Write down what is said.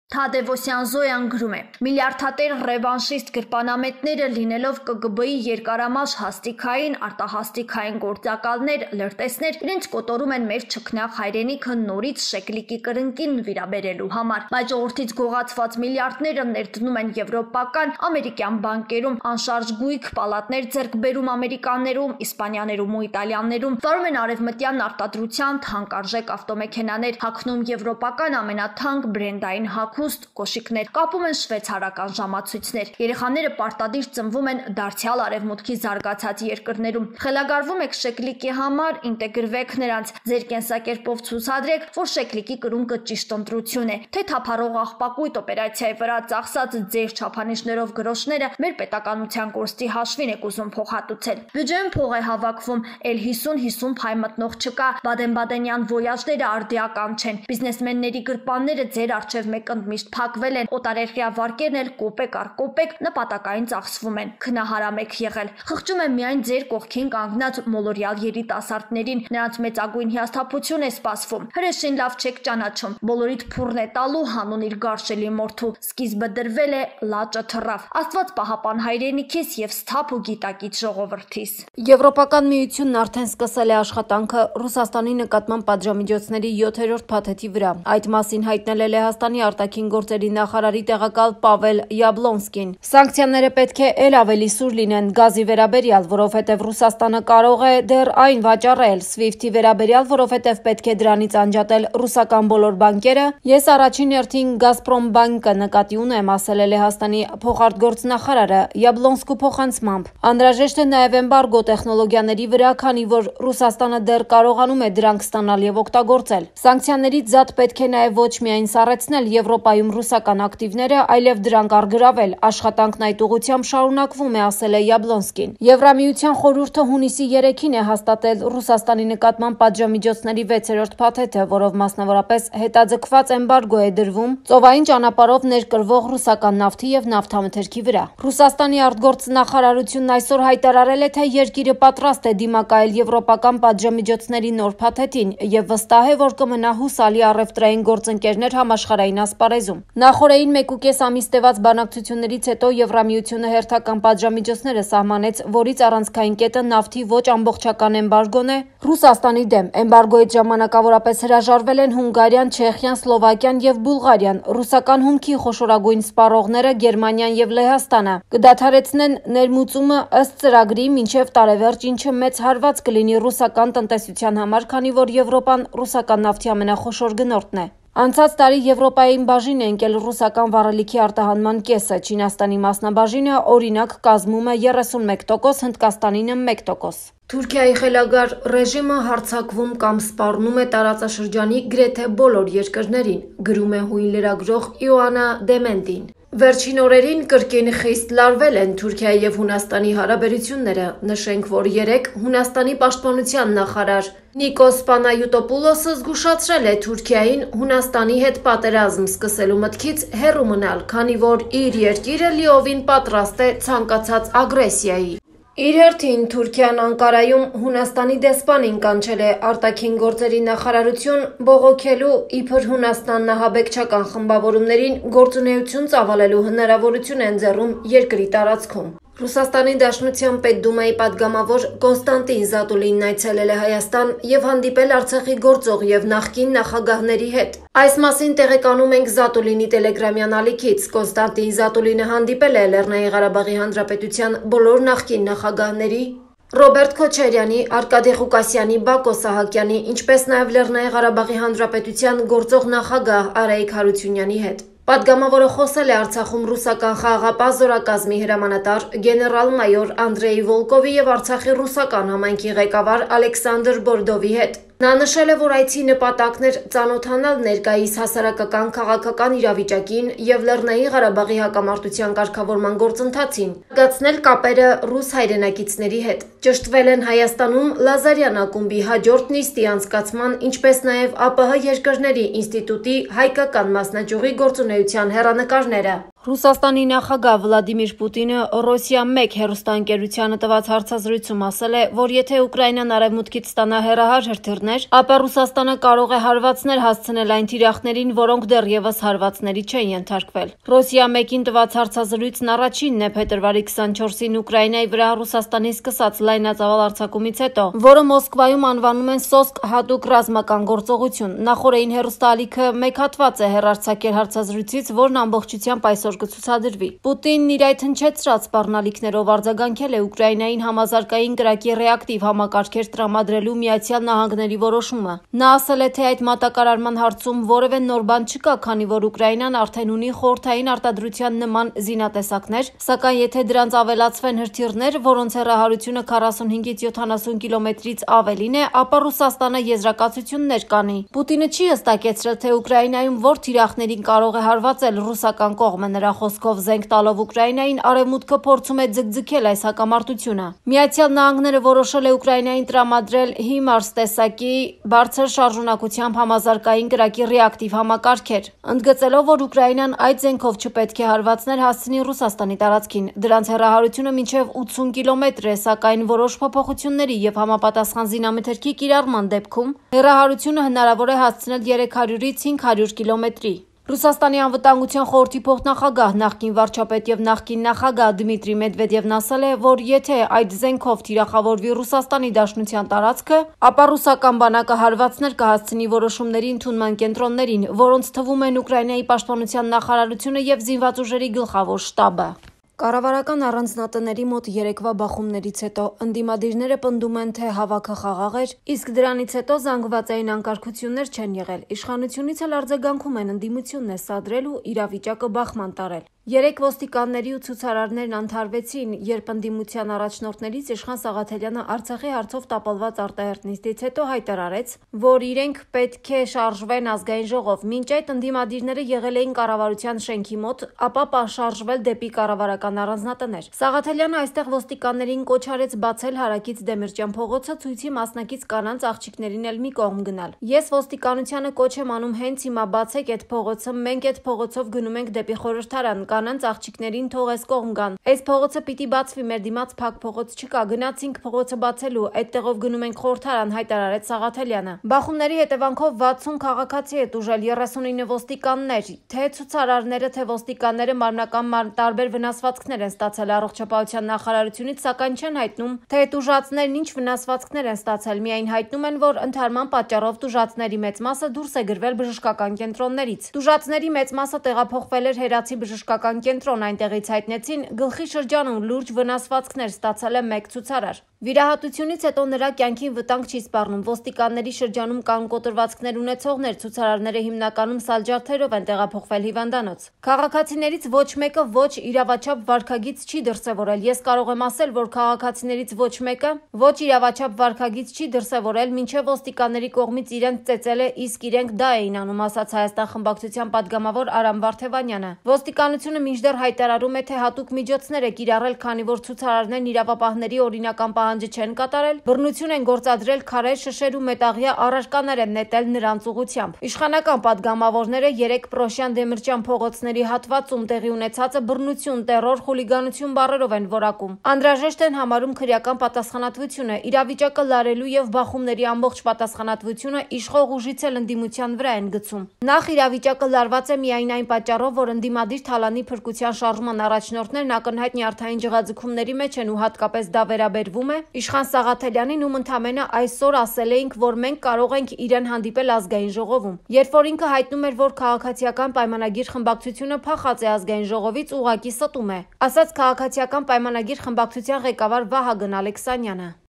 Թադևոսյան Զոյան գրում է. միլիարդատեր ռևանշիստ գրպանամետները լինելով ԿԳԲ-ի երկարամաշ հաստիքային, արտահաստիքային գործակալներ, լրտեսներ, իրենց կոտորում են մեր չքնաղ հայրենիքը նորից շեկլիկի կրնկին նվիրաբերելու համար, բայց ժողովրդից գողացված միլիարդները ներդնում են եվրոպական, ամերիկյան բանկերում, անշարժ գույք պալատներ ձեռք բերում ամերիկաներում, իսպանյաներում ու իտալյաներում, վարում են արևմտյան արտադրության թանկարժեք ավտոմեքենաներ, հագնում եվրոպական ամենաթանկ բրենդային կոշիկներ, կապում են շվեյցարական ժամացույցներ։ Երեխաները պարտադիր ծնվում են դարձյալ արևմուտքի զարգացած երկրներում։ Խելագարվում եք շեկլիկի համար, ինտեգրվեք նրանց, ձեր կենսակերպով ցուցադրեք, որ շեկլիկի կրունկը ճիշտ ընտրություն է, թե թափառող աղբակույտ օպերացիայի վրա ծախսած ձեր չափանիշներով գրոշները մեր պետականության կորստի հաշվին եք ուզում փոխհատուցել։ Բյուջեն փող է հավաքվում, էլ 50-50 փայ մտնող չկա, բադեն-բադենյան ոյաժները արդիական չեն, բիզնեսմենների գրպանները ձեր առջև մեկ միշտ փակվել են, օտարերկրյա վարկերն էլ կոպեկ առ կոպեկ նպատակային ծախսվում են, քնահարամ եք եղել, խղճում եմ միայն ձեր կողքին կանգնած մոլորյալ երիտասարդներին, նրանց մեծագույն հիասթափություն է սպասվում, հրեշին լավ չեք ճանաչում, բոլորիդ փուռն է տալու հանուն իր գարշելի մորթու, սկիզբը դրվել է, լաճը թռավ, Աստված պահապան հայրենիքիս և սթափ ու գիտակից ժողովրդիս։ Եվրոպական միությունն արդեն սկսել է աշխատանքը Ռուսաստանի նկատմամբ պատժամիջոցների 7-րդ փաթեթի վրա, այդ մասին հայտնել է Լեհաստանի արտաքին գործերի նախարարի տեղակալ Պավել Յաբլոնսկին։ Սանկցիաները պետք է էլ ավելի սուր լինեն գազի վերաբերյալ, որովհետև Ռուսաստանը կարող է դեռ այն վաճառել, SWIFT-ի վերաբերյալ, որովհետև պետք է դրանից անջատել ռուսական բոլոր բանկերը։ Ես առաջին հերթին Գազպրոմ բանկը նկատի ունեմ, ասել է Լեհաստանի փոխարտգործնախարարը Յաբլոնսկու փոխանցմամբ։ Անհրաժեշտ է նաև էմբարգո տեխնոլոգիաների վրա, քանի որ Ռուսաստանը դեռ կարողանում է դրանք ստանալ եւ օգտագործել։ Սանկցիաներից զատ պետք է նաև ոչ միայն սառեցնել Եվրոպայում ռուսական ակտիվները, այլև դրանք առգրավել, աշխատանքն այդ ուղղությամբ շարունակվում է, ասել է Յաբլոնսկին։ Եվրամիության խորհուրդը հունիսի 3-ին է հաստատել Ռուսաստանի նկատմամբ պատժամիջոցների 6-րդ փաթեթը, որով մասնավորապես հետաձգված էմբարգո է դրվում ծովային ճանապարհով ներկրվող ռուսական նավթի եւ նավթամթերքի վրա։ Ռուսաստանի արտգործնախարարությունն այսօր հայտարարել է, թե երկիրը պատրաստ է դիմակայել եվրոպական պատժամիջոցների նոր փաթեթին եւ վստահ է, որ կմնա հուսալի առևտրային գործընկերներ համաշխարհային ասպարեզում։ Նախորդին 1.5 ամիս տևած բանակցություններից հետո Եվրամիությունը հերթական պատժամիջոցները սահմանեց, որից առանցքային կետը նավթի ոչ ամբողջական էմբարգոն է Ռուսաստանի դեմ։ Էմբարգոյից ժամանակավորապես հրաժարվել են Հունգարիան, Չեխիան, Սլովակիան եւ Բուլղարիան։ Ռուսական հումքի խոշորագույն սպառողները Գերմանիան եւ Լեհաստանը կդադարեցնեն ներմուծումը ըստ ծրագրի մինչեւ տարեվերջ, ինչը մեծ հարված կլինի ռուսական տնտեսության համար, քանի որ Եվրոպան ռուսական նավթի ամենախոշոր գնորդն է։ Անցած տարի Եվրոպային բաժին է ընկել ռուսական վառելիքի արտահանման կեսը, Չինաստանի մասնաբաժինը օրինակ կազմում է 31%, Հնդկաստանինը 1%։ Թուրքիայի խելագար ռեժիմը հարձակվում կամ սպառնում է տարածաշրջանի գրեթե բոլոր երկրներին, գրում է հույն լրագրող Իոաննա Դեմենտին։ Վերջին օրերին կրկին խիստ լարվել են Թուրքիայի եւ Հունաստանի հարաբերությունները։ Նշենք, որ երեկ Հունաստանի պաշտպանության նախարար Նիկոս Պանայուտոպուլոսը զգուշացրել է Թուրքիային Հունաստանի հետ պատերազմ սկսելու մտքից հեռու մնալ, քանի որ իր երկիրը լիովին պատրաստ է ցանկացած ագրեսիայի։ Իր հերթին Թուրքիան Անկարայում Հունաստանի դեսպանին կանչել է արտաքին գործերի նախարարություն բողոքելու իբր Հունաստանն ահաբեկչական խմբավորումներին գործունեություն ծավալելու հնարավորություն է ընձեռում երկրի տարածքում։ Ռուսաստանի Դաշնության Պետդումայի падգամավոր Կոնստանտին Զատուլինն այցելել է Հայաստան եւ հանդիպել Արցախի գործող եւ նախկին նախագահների հետ։ Այս մասին տեղեկանում ենք Զատուլինի տելեգրամյան ալիքից։ Կոնստանտին Զատուլինը հանդիպել է Լեռնային Ղարաբաղի Հանրապետության բոլոր նախկին նախագահների Ռոբերտ Քոչարյանի, Արկադի Ղուկասյանի, Բակո Սահակյանի, ինչպես նաև Լեռնային Ղարաբաղի Հանրապետության գործող նախագահ Արայիկ Հարությունյանի հետ։ Պատգամավորը խոսել է Արցախում ռուսական խաղաղապահ զորակազմի հրամանատար գեներալ-մայոր Անդրեյ Վոլկովի եւ Արցախի ռուսական համայնքի ղեկավար Ալեքսանդր Բորդովի հետ։ Նա նշել է, որ այցի նպատակն էր ծանոթանալ ներկայիս հասարակական քաղաքական իրավիճակին եւ Լեռնային Ղարաբաղի հակամարտության կարգավորման գործընթացին, զարգացնել կապերը ռուս հայրենակիցների հետ։ Ճշտվել են Հայաստանում Լազարյան ակումբի հաջորդ նիստի անցկացման, ինչպես նաեւ ԱՊՀ երկրների ինստիտուտի հայկական մասնաճյուղի գործունեության հեռանկարները։ Ռուսաստանի նախագահ Վլադիմիր Պուտինը Ռոսիա-1 հեռուստաընկերությանը տված հարցազրույցում ասել է, որ եթե Ուկրաինան արևմուտքից ստանա հեռահար հրթիռներ, ապա Ռուսաստանը կարող է հարվածներ հասցնել այն թիրախներին, որոնք դեռևս հարվածների չեն ենթարկվել։ Ռոսիա-1-ին տված հարցազրույցն առաջինն է փետրվարի 24-ին Ուկրաինայի վրա Ռուսաստանի սկսած լայնածավալ արձակումից հետո, որը Մոսկվայում անվանում են «Սոսկ» հատուկ ռազմական գործողություն։ Նախորդային հեռուստաալիքը մեկ հատված է հեռարձակել հարցազրույցից, որն ամբողջությամբ այսօր կցուցադրվի։ Պուտինն իր այդ հնչեցրած սպառնալիքներով արձագանքել է Ուկրաինային համազարգային կրակի ռեակտիվ համակարգեր տրամադրելու Միացյալ Նահանգների որոշումը։ Նա ասել է, թե այդ մատակարարման հարցում որևէ նոր բան չկա, քանի որ Ուկրաինան արդեն ունի խորհրդային արտադրության նման զինատեսակներ, սակայն եթե դրանց ավելացվեն հրթիռներ, որոնց հեռահարությունը 45-ից 70 կիլոմետրից ավելին է, ապա Ռուսաստանը եզրակացություններ կանի։ Պուտինը չի հստակեցրել, թե Ուկրաինայում որ թիրախներին կարող է հարվածել ռուսական կողմը։ Նրա խոսքով զենք տալով Ուկրաինային արևմուտքը փորձում է ձգձգել այս հակամարտությունը։ Միացյալ Նահանգները որոշել է Ուկրաինային տրամադրել HIMARS տեսակի բարձր շարժունակությամբ համազարգային կրակի ռեակտիվ համակարգեր, ընդգծելով, որ Ուկրաինան այդ զենքով չպետք է հարվածներ հասցնի Ռուսաստանի տարածքին։ Դրանց հեռահարությունը մինչև 80 կիլոմետր է, սակայն որոշ փոփոխությունների եւ համապատասխան զինամթերքի կիրառման դեպքում հեռահարությունը հնարավոր է հասցնել 300-ից 500 կիլոմետրի։ Ռուսաստանի անվտանգության խորհրդի փոխնախագահ, նախկին վարչապետ եւ նախկին նախագահ Դմիտրի Մեդվեդևն ասել է, որ եթե այդ զենքով թիրախավորվի Ռուսաստանի Դաշնության տարածքը, ապա ռուսական բանակը հարվածներ կհասցնի որոշումների ընդունման կենտրոններին, որոնց թվում են Ուկրաինայի պաշտպանության նախարարությունը եւ զինված ուժերի գլխավոր շտաբը։ Կառավարական առանձնատների մոտ երեկվա բախումներից հետո ընդդիմադիրները պնդում են, թե հավաքը խաղաղ էր, իսկ դրանից հետո զանգվածային անկարգություններ չեն եղել։ Իշխանությունից էլ արձագանքում են ընդդիմությունն է սադրել ու իրավիճակը բախման տարել։ Երեք ոստիկանների ու ցուցարարներն անթարվեցին, երբ ընդդիմության առաջնորդներից Իշխան Սաղաթելյանը Արցախի հարցով տապալված արտահերթ նիստից հետո հայտարարեց, որ իրենք պետք է շարժվեն ազգային ժողով։ Մինչ այդ ընդդիմադիրները եղել էին կառավարության շենքի մոտ, ապա շարժվել դեպի կառավարական առանձնատներ։ Սաղաթելյանը այստեղ ոստիկաններին կոչ արեց բացել Հարակից Դեմիրճյան փողոցը, ցույցի մասնակից կանանց աղջիկներին էլ մի կողմ գնալ։ Ես ոստիկանությանը կոչ եմ անում հենց հիմա բացեք այդ փողոցը, մենք այդ փողոցով գնում ենք դեպի խորհրդարան, կանանց աղջիկներին թող այս կողմ գան։ Այս փողոցը պիտի բացվի, մեր դիմաց փակ փողոց չկա, գնացինք փողոցը բացելու, այդտեղով գնում ենք խորհրդարան, հայտարարեց Սաղաթելյանը։ Բախումների հետևանքով 60 քաղաքացի է տուժել, 39 ոստիկաններ, թե ցուցարարները, թե ոստիկանները մարմնական տարբեր վնասվածքներ են ստացել առողջապահության նախարարությունից, սակայն չեն հայտնում, թե տուժածներն ինչ վնասվածքներ են ստացել, միայն հայտնում են, որ ընդհարման պատճառով տուժածների մեծ մասը դուրս է գրվել բժշկական կենտրոններից։ Տուժածների մեծ մասը տեղափոխվել էր Հերացի բժշկական կենտրոն, այնտեղից հայտնեցին գլխի շրջանում լուրջ վնասվածքներ ստացել է մեկ ցուցարար։ Վիրահատությունից հետո նրա կյանքին վտանգ չի սպառնում։ Ոստիկանների շրջանում կան կոտրվածքներ ունեցողներ, ցուցարարները հիմնականում սալջարդերով են տեղափոխվել հիվանդանոց։ Քաղաքացիներից ոչ մեկը ոչ իրավաչափ վարքագիծ չի դրսևորել։ Ես կարող եմ ասել, որ քաղաքացիներից ոչ մեկը ոչ իրավաչափ վարքագիծ չի դրսևորել, մինչև ոստիկանների կողմից իրենց ծեծել է, իսկ իրենք դա էին անում, ասաց Հայաստան խմբակցության падգամավոր Արամ Վարդևանյանը։ Ոստիկանությունը մինչդեռ հայտարարում է, թե հատուկ միջոցներ է կիրառել, քանի որ ցուցարարներն իրավապահների օրինական պահանջը չեն կատարել, բռնություն են գործադրել, քարեր, շշեր ու մետաղյա առարկաներ են նետել նրանց ուղղությամբ։ Իշխանական падգամավորները 3 Պրոշյան Դեմիրճյան փողոցների հատվածում տեղի ունեցածը բռնություն, տեռոր, խուլիգանություն բառերով են որակում։ Անհրաժեշտ են համարում քրեական պատասխանատվությունը, իրավիճակը լարելու եւ բախումների ամբողջ պատասխանատվությունը իշխող ուժից էլ ընդդիմության վրա են գցում։ Նախ իրավիճակը լարված է միայն այն պատճառով, որ ընդդիմադիր Թալանի փրկության շարժման առաջնորդներն ակնհայտ նյարդային ջղաձգումների մեջ են ու հատկապես դա վերաբերվում է Իշխան Սաղաթելյանին, ում ընդամենը այսօր ասել էինք, որ մենք կարող ենք իրեն հանդիպել ազգային ժողովում։ Երբ որ ինքը հայտնում էր, որ քաղաքացիական պայմանագիր խմբակցությունը փախած է ազգային ժողովից, ուղղակի ստում է, ասաց քաղաքացիական պայմանագիր խմբակցության ղեկավար Վահագն Ալեքսանյանը։